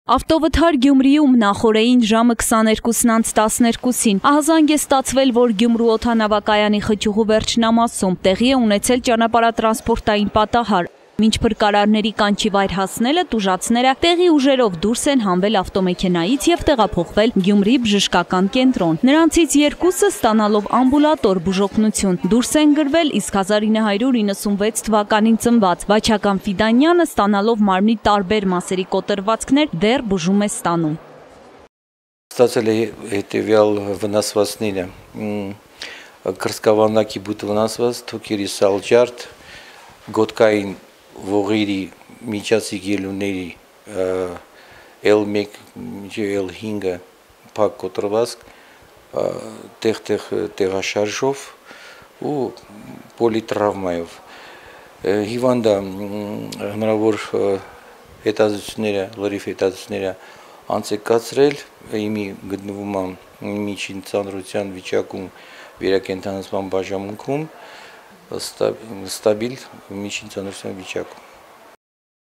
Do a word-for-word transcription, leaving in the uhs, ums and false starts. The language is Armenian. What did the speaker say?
Ավտովթար Գյումրիում նախօրեին ժամը քսաներկուսն անց տասներկուսին ահազանգ է ստացվել, որ Գյումրու օդանավակայանի խճուղու վերջնամասում տեղի է ունեցել ճանապարհատրանսպորտային պատահար։ Մինչ փրկարարների կանչի վայր հասնելը տուժածները տեղի ուժերով դուրս են հանվել ավտոմեքենայից և տեղափոխվել Գյումրի բժշկական կենտրոն։ Նրանցից երկուսը ստանալով ամբուլատոր բուժօգնություն դուրս են գրվել, իսկ հազար ինը հարյուր իննսունվեց թվականին ծնված Վաչական Ֆիդանյանը ստանալով մարմնի տարբեր մասերի կոտրվածքներ դեռ բուժում է ստանում։ Ստացել է հետևյալ վնասվածքները՝ կրծքավանդակի բութ վնասված, թոքերի սալջարդ, գոտկային ողերի միջածիկ ելունների L մեկ L հինգը փակ կոտրվածք, տեղ-տեղ տեղաշարժով ու պոլիտրավմայով։ Հիվանդը հնարավոր հետազոտությունները, լրիվ հետազոտությունները անց է կացրել, իմի գտնվում է միջին ծանրության վիճակում վերակենդանացման բաժանմունքում, ստաբիլ միջին ծանրության վիճակում։